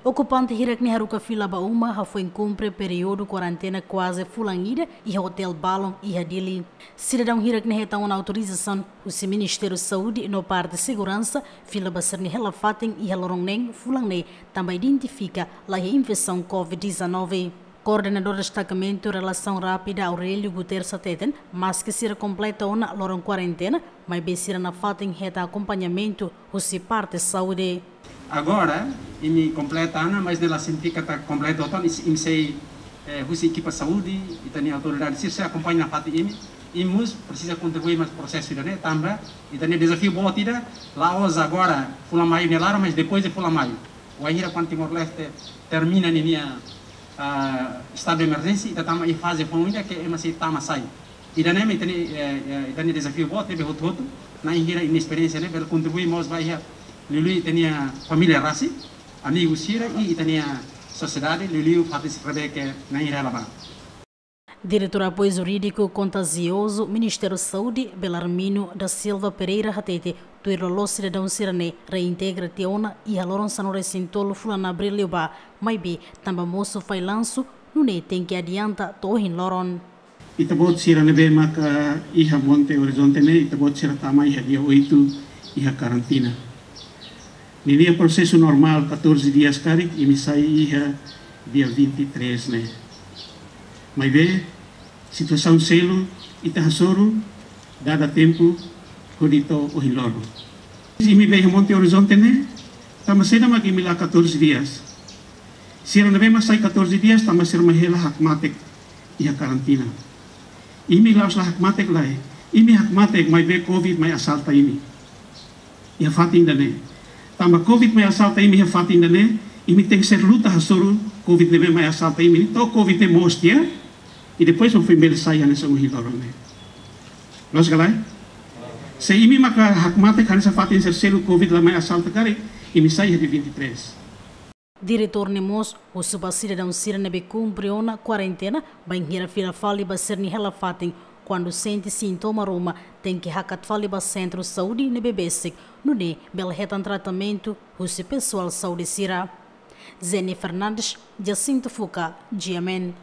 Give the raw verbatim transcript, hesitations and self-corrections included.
Okupante hirak ne'e haruka fila ba uma, hafoin kumpre períodu kuarentena kuaze fulan ida iha hotel Balon iha Dili. Sidadaun hirak ne'e hetan ona autorizasaun husi Ministériu Saúde no parte seguransa fila ba sira-nia hela-fatin iha loron neen fulan ne'e, tanba identifika la iha infesaun covid dezanove. Koordenadór Destakamentu Relasaun Rápida, Aurélio Guterres, hateten, maske sira kompleta ona loron kuarentena, maibé sira nafatin hetan akompañamentu husi parte saúde. Agora, imi kompleta ona, mas ne'e la signifika katak kompleta hotu, imi, imi sei, eh, husi ekipa saúde, ita-nia autoridade sira sei akompaña nafatin imi, imi mós presiza kontribui mai prosesu ida-ne'e, tanba ita-nia dezafiu boot ida, la'ós agora fulan Maiu nia laran, mas depois de fulan Maiu. Wainhira kuandu Timor-Leste termina ninia, ah, estadu de emerjénsia, ita tama iha faze foun ida ke ema sei tama sai. Ida-ne'e mak ita-nia, eh, eh, ita-nia dezafiu boot ne'ebé hotu-hotu, na'in hira nia esperiénsia ne'e bele kontribui mós ba iha liuliu ita-nia família rasik, amigu sira i ita-nia sosiedade, liuliu fatin sira ne'ebé ke na'in hira hela ba. Diretór Apoiu Jurídiku Kontaziozu Ministériu Saúde, Belarmino da Silva Pereira, hatete, tuir loloos sidadaun sira-ne'e reintegra tiha ona iha loron sanulu-resin-tolu fulan Abríl liubá, maibé tanba mosu fallansu, nune'e tenke adianta to'o ohin loron. Ita-boot sira ne'ebé maka iha Monte Horizonte ne'e, ita-boot sira tama iha dia oitu iha karantina. Ninia prosesu normál catorze dias karik, imi sai iha dia vinte e três ne'e. Maibé situasaun seluk ita hasoru dada tempu hodi to'o ohin loron. Imi be iha Monte Horizonte ne'e, tanba saida mak imi la'o catorze dias? Sira ne'ebé mak sai catorze dias, tanba sira mak hela hakmatek iha karantina. Imi la'ós la hakmatek lae, imi hakmatek maibé covid mai asalta imi iha fatin ida-ne'e. Tanba covid mai asalta imi iha fatin ida-ne'e, imi tenke ser luta hasoru covid ne'ebé mai asalta imi to'o covid ne'e moos tiha, i depois mak foin bele sai hanesan ohin loron ne'e. Loos ka lae? Se imi maka hakmatek hanesan fatin sira seluk covid la mai asalta karik, imi sai iha dia vinte e três. Diretór ne'e mós husu ba sidadaun sira ne'ebé kumpre ona kuarentena, bainhira fila fali ba sira-nia hela-fatin, kuandu sente sintoma ruma, tenke hakat fali ba sentru saúde ne'ebé besik, nune'e bele hetan tratamentu husi pesoál saúde sira. Zeni Fernandes, Jacinto Fuca, G M N.